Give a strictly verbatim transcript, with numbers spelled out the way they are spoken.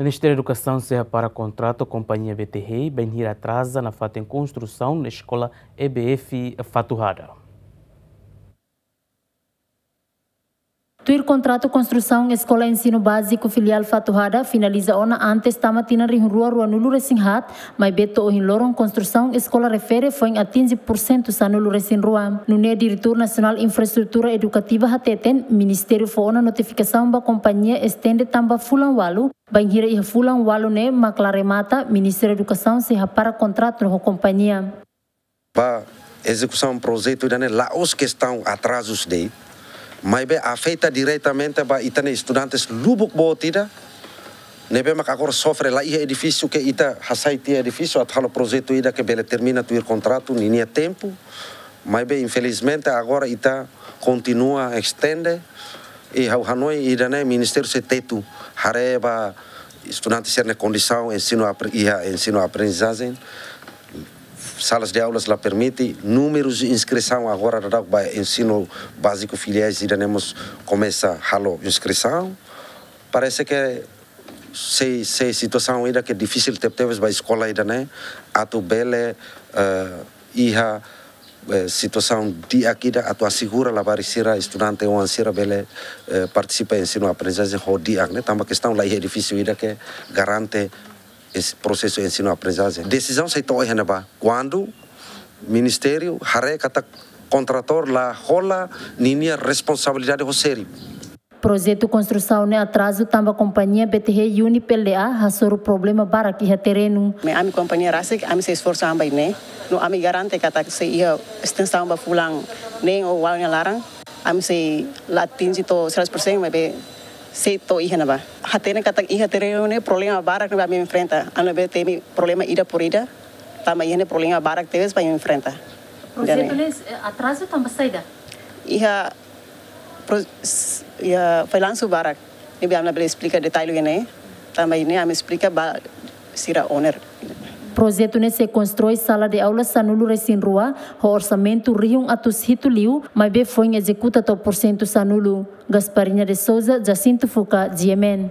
Ministériu Edukasaun sei hapara kontratu ho kompañia B T H bainhira atraza nafatin konstrusaun eskola E B F Fatuhada. Tuir kontratu konstrusaun Eskola Ensinu Báziku Filiál Fatuhada finaliza ona antes tama tinan rihun rua ruanulu resin haat, maibé to'o ohin loron konstrusaun eskola refere foin atinje pursentu sanulu resin rua. Nune'e Diretór Nasionál Infraestrutura Edukativa hateten, Ministériu fó ona notifikasaun ba kompañia estende tan ba fulan ualu, bainhira iha fulan ualu ne'e mak la remata, Ministériu Edukasaun sei hapara kontratu ho kompañia. Ba ezekusaun projetu ida-ne'e la'ós kestaun atrazus de'it, maibé afeta diretamente ba ita-nia estudantes lubuk boot ida, ne'ebé mak agora sofre, la iha edifísiu, ke ita hasai tiha edifísiu atu halo projetu ida ke bele termina tuir kontratu ninia tempu, maibé infelizmente agora ita kontinua estende, i ha'u hanoin ida-ne'e ministériu sei tetu haree ba estudante sira-nia kondisaun ensinu apre-, iha ensinu aprendizajen, salas de aulas la permite, númerus de inskrisaun agora daudaun ba ensinu báziku filiál ida-ne'e mós komesa halo inskrisaun. Parese ke sei, sei situasaun ida ke difisil tebetebes ba eskola ida-ne'e atu bele, eh, iha, eh, situasaun di'ak ida atu asegura labarik sira, estudante oan sira bele, eh, partisipa ensinu aprendizajen ho di'ak ne'e, tanba kestaun la iha edifísiu ida ke garante es-, prosesu ensinu aprendizajen. Desizaun sei to'o iha ne'ebá kuandu ministériu haree katak kontratór la hola ninia responsabilidade ho sériu. Projetu konstrusaun ne'e atrazu tanba kompañia B T H Unip L D A hasoru problema barak iha terrenu. Ami kompañia rasik, ami sei esforsu an ba ne'e. No ami garante katak sei iha estensaun ba fulan neen ou ualu nia laran. Ami sei la atinje to'o seratus persen, maibé sei to'o iha ne'ebá. Hatene katak iha terrenu ne'e problema barak ne'ebé ami enfrenta. Ami labele temi problema ida por ida, tanba iha ne'e problema barak tebes ba enfrenta. Projetu ne'e, eh, atrazu tanba saida? Iha pro-, s-, iha fallansu barak. Ne'ebé ami labele esplika detalle ne'e, tanba ne'e ami esplika ba sira owner. Projetu ne'e sei konstrui sala de aula sanulu resin rua, ho orsamentu rihun atus hitu liu, maibé foin ezekuta to'o pursentu sanulu. Gasparina de Souza, Jacinto Fuca, G M N.